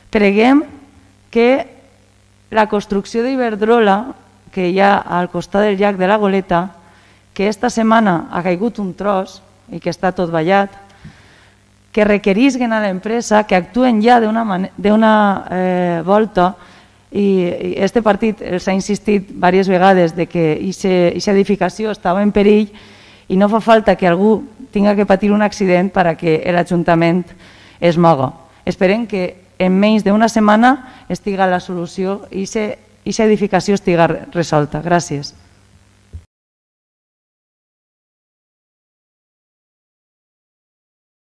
preguem que la construcció d'Iberdrola, que hi ha al costat del llac de la Goleta, que esta setmana ha caigut un tros i que està tot ballat, que requerisquen a l'empresa que actuen ja d'una volta, i este partit els ha insistit diverses vegades que aquesta edificació estava en perill i no fa falta que algú tinga que patir un accident perquè l'Ajuntament es moga. Esperem que en menys d'una setmana estiga la solució i aquesta edificació estiga resolta. Gràcies.